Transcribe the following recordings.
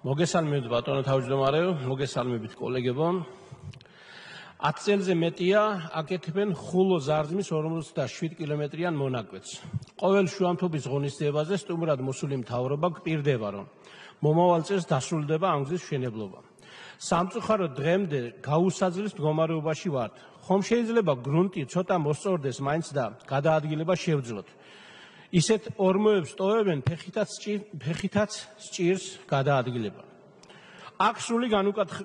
მოგესალმებით ბატონო თავმჯდომარეო, მოგესალმებით კოლეგებო. 10 წელზე მეტია აკეთებენ ხულო ზარზმის 57 კილომეტრიან მონაკვეთს. ყოველ შუამთობის ღონისძიებაზე სტუმრად მოსული მთავრობა გვპირდება, რომ მომავალ წელს დასრულდება ამ გზის მშენებლობა. სამწუხაროდ დღემდე გაუსაძლის მდგომარეობაში ვართ. ხომ შეიძლება გრუნტი ცოტა მოსწორდეს მაინც და გადაადგილება შევძლოთ. ისეთ ორმოებს ტოვებენ, ფეხითაც სჭირს გადაადგილება. აქ სრული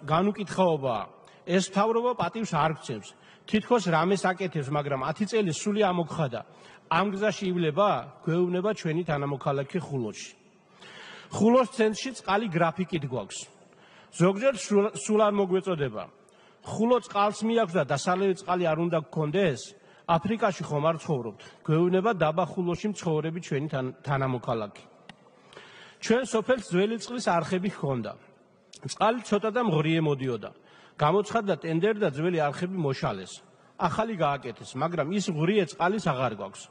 განუკითხაობაა. ეს მთავრობა პატივს არ გცემს. თითქოს რამეს აკეთებს, მაგრამ 10 წელი სული ამოგხადა. ამ გზაში ივლება, გვეუბნება ჩვენი თანამოქალაქე ხულოში. ხულოს ცენტრში წყალი გრაფიკით გვაქვს. ზოგჯერ სულ არ მოგვეწოდება. ხულო წყალს მიაქვს და დასალევი წყალი არ უნდა გქონდეს? აფრიკაში ხომ არ ცხოვრობთ? გვეუბნება დაბა ხულოში მცხოვრები ჩვენი თანამოქალაქე. ჩვენ სოფელს ძველი წყლის არხები ჰქონდა. წყალი ცოტა და მღრიე მოდიოდა. გამოცხადდა ტენდერი და ძველი არხები მოშალეს. ახალი გააკეთეს, მაგრამ ის მღრიე წყალის აღარ გვაქვს.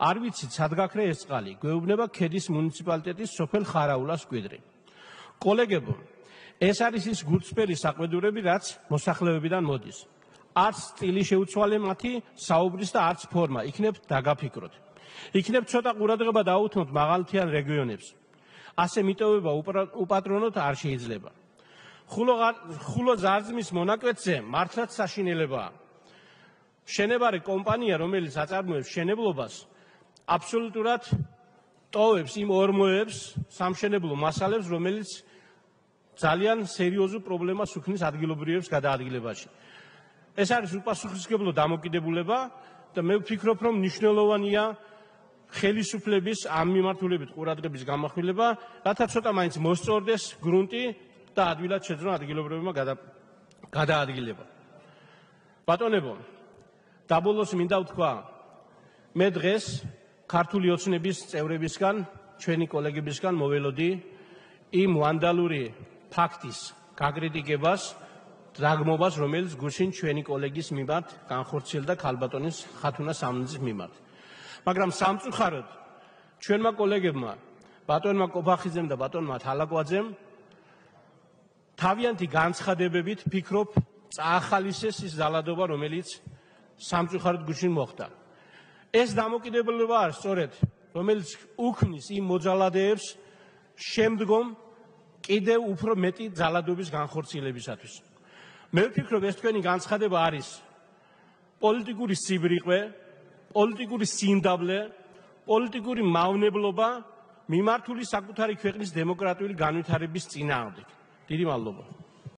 არ ვიცით, სად გაქრე ეს წყალი. გვეუბნება ქედის მუნიციპალიტეტის სოფელ ხარაულას მკვიდრი. კოლეგებო, ეს არის ის გულწრფელი საყვედურები, რაც მოსახლეობიდან მოდის. არც სტილი შეუცვალე მათი საუბრის და არც ფორმა, იქნებ დაგაფიქროთ. იქნებ ცოტა ყურადღება დაუთმოთ მაღალმთიან რეგიონებს. ასე მიტოვება უპატრონოთ არ შეიძლება. ხულო ზარზმის მონაკვეთზე მართლაც საშინელებაა. მშენებარე კომპანია, რომელიც აწარმოებს მშენებლობას, აბსოლუტურად ტოვებს იმ ორმოებს, სამშენებლო მასალებს, რომელიც ძალიან სერიოზულ პრობლემას უქმნის ადგილობრივებს გადაადგილებაში. ეს არის უპასუხისმგებლო დამოკიდებულება და მე ვფიქრობ, რომ მნიშვნელოვანია ხელისუფლების ამ მიმართულებით ყურადღების გამახვილება, რათა ცოტა მაინც მოსწორდეს გრუნტი და ადვილად შეძლონ ადგილობრივებმა გადაადგილება. ბატონებო, დაბოლოს მინდა ვთქვა, მე დღეს ქართული ოცნების წევრებისგან, ჩვენი კოლეგებისგან მოველოდი იმ ვანდალური ფაქტის გაკრიტიკებას, დრაგმობას, რომელიც გუშინ ჩვენი კოლეგის მიმართ განხორციელდა ქალბატონის ხათუნა სამნიძის მიმართ. მაგრამ სამწუხაროდ ჩვენმა კოლეგებმა, ბატონმა კობახიძემ და ბატონმა თალაკვაძემ თავიანთი განცხადებებით ფიქრობ წაახალისეს ის ძალადობა, რომელიც სამწუხაროდ გუშინ მოხდა. ეს დამოკიდებულება არის სწორედ, რომელიც უქმნის იმ მოძალადეებს შემდგომ კიდევ უფრო მეტი ძალადობის განხორციელებისათვის. მე ვფიქრობ, ეს თქვენი განცხადება არის პოლიტიკური სიბრიყვე, პოლიტიკური სიმდაბლე, პოლიტიკური მავნებლობა მიმართული საკუთარი ქვეყნის დემოკრატიული განვითარების წინააღმდეგ. დიდი მადლობა.